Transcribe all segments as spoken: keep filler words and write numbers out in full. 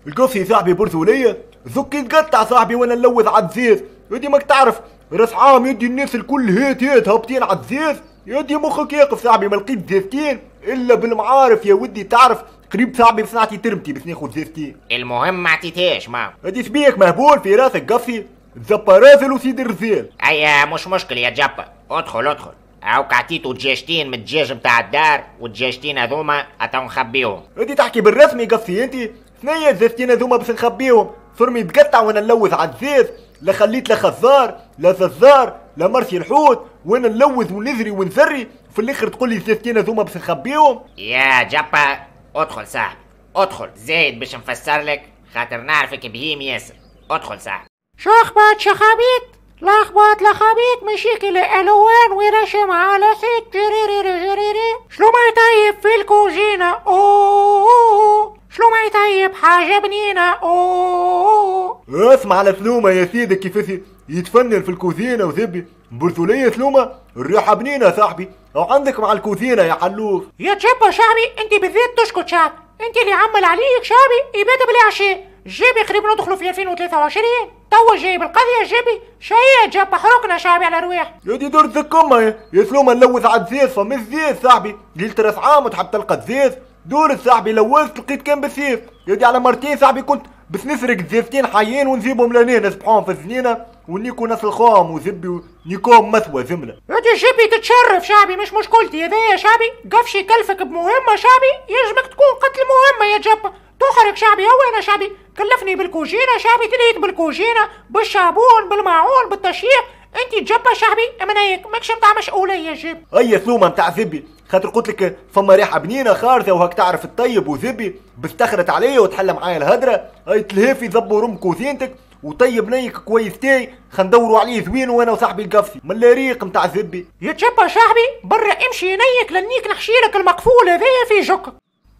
القفصي صاحبي برزوليه زكي تقطع صاحبي وانا نلوذ على الزيز. يدي ماك تعرف راس عام يدي الناس الكل هات هات هابطين على الزيز، يدي مخك يقف صاحبي. ما لقيت زيزتين الا بالمعارف يا ودي، تعرف قريب صاحبي باش نعطي ترمتي باش ناخذ زيزتين. المهم ما عطيتهاش ما هادي سبيك مهبول في راسك قفصي، تزبى رازل وسيد الرزيل. ايا مش مشكل يا جبا، ادخل ادخل. هاوك عطيتو دجاجتين من الدجاج نتاع الدار، والدجاجتين هذوما اتو نخبيهم. هادي تحكي بالرسمي قفصي انت؟ ثنية الزيزتين هذوما باش نخبيهم، صرمي تقطع وانا نلوذ على الزيز، لا خليت لا خزار لا ززار لا مرسي الحوت، وانا نلوذ ونزري ونزري، في الاخر تقول لي الزيزتين هذوما باش نخبيهم. يا جبا ادخل صاحبي ادخل، زايد باش نفسر لك خاطر نعرفك بهيم ياسر. ادخل صاحبي. شو اخبط شخابيط لخبط لخبيط مشيك الالوان ورشم على ست جريري جريري. شلو ما يطيب في الكوجينة اوه، شلو ما يطيب حاجة بنينة اوه. اسمع على سلومة يا سيدي كيفاش يتفنن في الكوزينة وزبي برسولية سلومة الريحة بنينة صاحبي، او عندك مع الكوزينة يا حلوف. يا تشبا شعبي انت بالذات تشكت شعب، انت اللي عمل عليك شعبي يبات بالعشاء. جيبي قريب ندخلوا في ألفين وثلاثة وعشرين توا جايب القضية جيبي شيء جاب حرقنا شعبي على رواح. يا دي دور الزكمة يا سلومة نلوث على الزيز فما الزيز صاحبي، ليلة راس عام وتحب تلقى الزيز، دور صاحبي لوثت لقيت كان بالسيف. يا دي على مرتين صاحبي كنت بس نسرق زيزتين حيين ونجيبهم لهنا نسبحوهم في الزنينة ونيكو ناس الخام وزبي ونيكوم مثوى زملة. يا دي جيبي تتشرف شعبي مش مشكلتي هذايا شعبي، قفشي كلفك بمهمة شعبي يجبك تكون قتل مهمة يا جبا. تحرك شعبي هو انا شعبي كلفني بالكوجينة شعبي، تلهيت بالكوجينة بالشابون بالماعون بالتشييع، انت تجبا شعبي منايك ماكش نتاع مسؤولية جيب. اي سلومة نتاع زبي خاطر قلت لك فما ريحة بنينة خارجة وهاك تعرف الطيب وزبي بستخرت عليا وتحل معايا الهدرة، اي تلهي في ذب ورم كوزينتك وطيب نيك كويس تاي خندوروا عليه زوين وانا وصاحبي القفصي من الريق نتاع زبي. يا تجبا شعبي برا امشي نيك لنيك نحشيلك المقفول هذايا في جوك.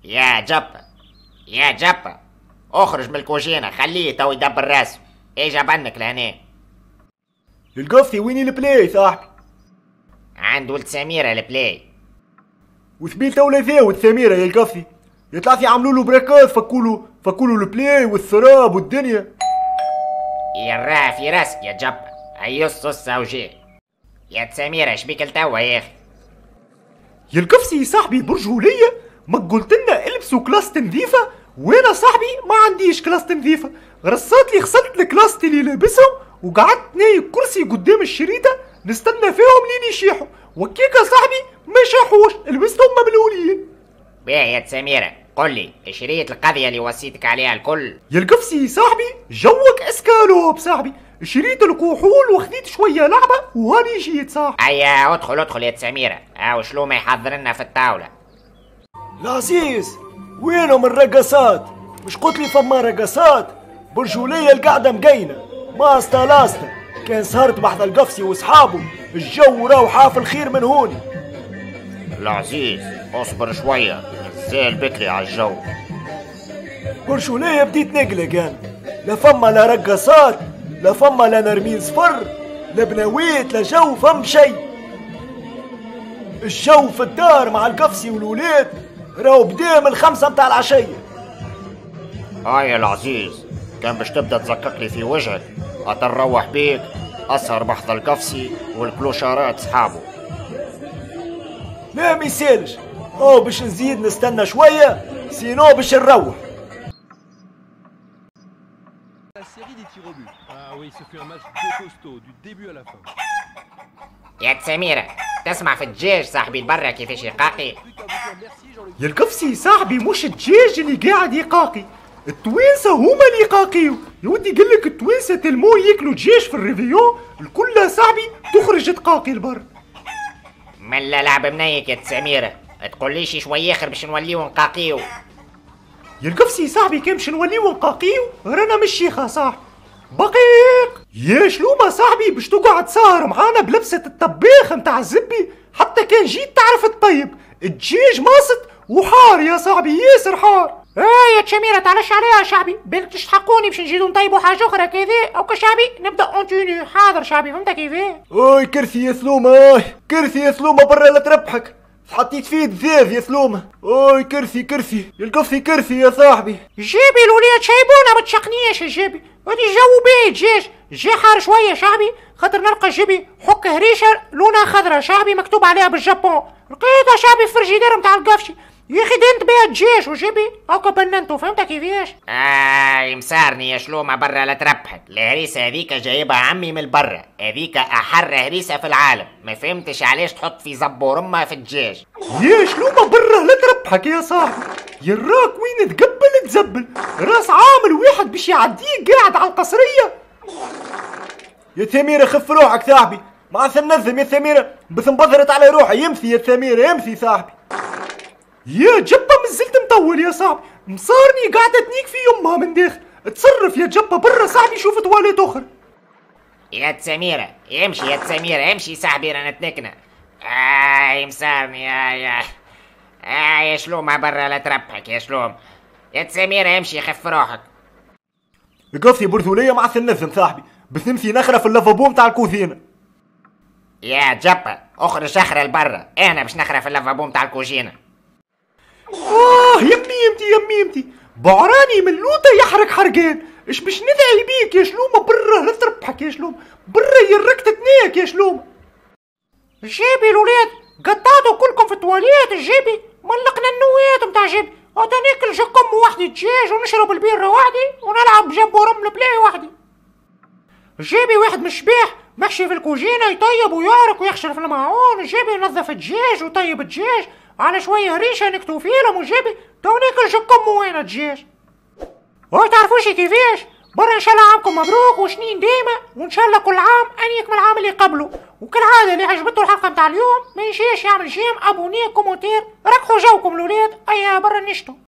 يا جبا يا جبا اخرج من الكوجينة خليه تو يدبر راسه، اجا بنك لهنا. القفصي ويني ال play صاحبي؟ عند ولد سميرة ال play. وسبيل تو لا ولد سميرة يا القفصي، يطلع في عملوا له براكاز فكولو فكولو ال play والسراب والدنيا. يراه في راسك يا جبا، هيص ص وجيه. يا سميرة شبيك لتوا يا اخي؟ يا القفصي يا صاحبي برجولية ما قلت لنا البسوا كلاس نظيفة، وانا صاحبي ما عنديش كلاس نظيفة، غرصات لي غسلت الكلاس اللي لابسهم وقعدت نايم كرسي قدام الشريطة نستنى فيهم لين يشيحوا، وكيكا صاحبي ما شاحوش لبستهم مبلولين. باهي يا سميرة قل لي شريط القضية اللي وصيتك عليها الكل؟ يا القفصي صاحبي جوك اسكالوب صاحبي، شريت الكحول وخذيت شوية لعبة وهاني جيت صاحبي. ايا ادخل ادخل يا سميرة، هاو شلو ما يحضر لنا في الطاولة. العزيز وينهم الرقصات؟ مش قلت لي فما رقصات؟ برجولية القعدة مقينة ماستا لاستا، كان سهرت بحذا القفصي وصحابه الجو راهو حافل خير من هوني. العزيز اصبر شوية مازال بكري على الجو. برجولية بديت نقلق انا، لا فما لا رقصات لا فما لا نرمين صفر لا بناويت لا جو فم شي. الجو في الدار مع القفصي والولاد راهو بدا من الخمسة متاع العشية. هاي يا العزيز كان باش تبدا تزكك لي في وجهك اتروح بيك اسهر بحذا القفصي والكلوشارات صحابه. لا ما يسالش، او باش نزيد نستنى شوية sinon باش نروح. يا سميرة تسمع في الدجاج صاحبي البرة كيفاش يقاقي؟ يا القفصي صاحبي مش الدجاج اللي قاعد يقاقي، التوانسة هما اللي يقاقيو. يا ودي قالك التوانسة tellement ياكلوا دجاج في ال réveillon الكل صاحبي تخرج تقاقي البر. ملا لعب منيك يا سميرة، تقوليش شوية اخر باش نوليو نقاقيو. يا القفصي صاحبي كان باش نوليو نقاقيو رانا مش شيخة صاحبي. بقيق يا شلومة صاحبي باش تقعد سهر معانا بلبسة الطباخ متاع الزبي، حتى كان جيت تعرف الطيب الدجاج ماسط وحار يا صاحبي ياسر حار. ايه يا شميرة تعلش عليها شعبي، بالك تشحقوني باش نزيدو نطيبو حاجة أخرى كذا أو كشعبي نبدا en tenue. حاضر شعبي فهمت كيفاه؟ اوي كرسي يا سلومة، اوي كرسي يا سلومة برا لا تربحك. حطيت فيه دزاز يا سلومه. اوي كرسي كرسي يا القفصي كرسي يا صاحبي. جيبي الولاد شايبونا ما تشقنيش يا جيبي، غادي جو بيه دجاج، جي حار شوية شعبي خاطر نلقى جيبي حك هريشه لونها خضرا شعبي مكتوب عليها بالجابون، لقيتها شعبي في الفريجيدير نتاع القفشي، يا اخي دنت بيها دجاج وجيبي هاكا بننتو، فهمت كيفاش؟ آه مسارني يا شلومه برا لا تربحك، الهريسه هذيك جايبها عمي من برا، هذيك احر هريسه في العالم، ما فهمتش علاش تحط في زبور امها في الدجاج. يا شلومه برا لا تربحك يا صاحبي، يراك وين تقبل تزبل، راس عامل واحد باش يعديك قاعد على القصريه. يا سميرة خف روحك صاحبي، ما عادش ننزم يا سميرة، بس انبذرت على روحي. يمشي يا سميرة يمشي صاحبي. يا جبة مازلت مطول يا صاحبي، مصارني قاعدة تنيك في يمها من داخل، تصرف يا جبة برا صاحبي شوف تواليت اخرى. يا سميرة امشي يا سميرة امشي صاحبي رانا تنكنا. آه مسارني يا يا آه يا شلومة برا لا تربحك يا شلوم. يا سميرة امشي خف روحك. قصي برزولية ما عادش ننزم صاحبي، بس نمشي نخرة في اللافابو نتاع الكوزينة. يا جبة اخرج اخرة لبرا، انا باش نخرة في اللافابو نتاع الكوزينة. اه يا ميمتي يا ميمتي، بعراني من لوطة يحرق حرقان، اش باش ندعي بيك يا شلومة برا لا تربحك يا شلومة، برا يرك تتناك يا شلومة. جيبي الولاد قطعتوا كلكم في التواليت، جيبي ملقنا النوات متاع جيبي، غادا ناكل جكم وحدي دجاج ونشرب البيرة وحدي ونلعب جنب ورمل بلاي وحدي. جيبي واحد من الشباح محشي في الكوجينة يطيب ويعرق ويخشر في المعون، جيبي ينظف الدجاج ويطيب الدجاج على شوية هريشة نكتو فيلم وجيبي تو ناكل جكم وانا دجاج. وتعرفوش كيفاش؟ برا ان شاء الله عامكم مبروك وشنين ديما، وان شاء الله كل عام انيك من العام اللي قبله. وكالعادة اللي عجبته الحلقة متاع اليوم ما ينساش يعمل j'aime abonner commentaire، ركحوا جوكم الولاد، ايا برا نشتو.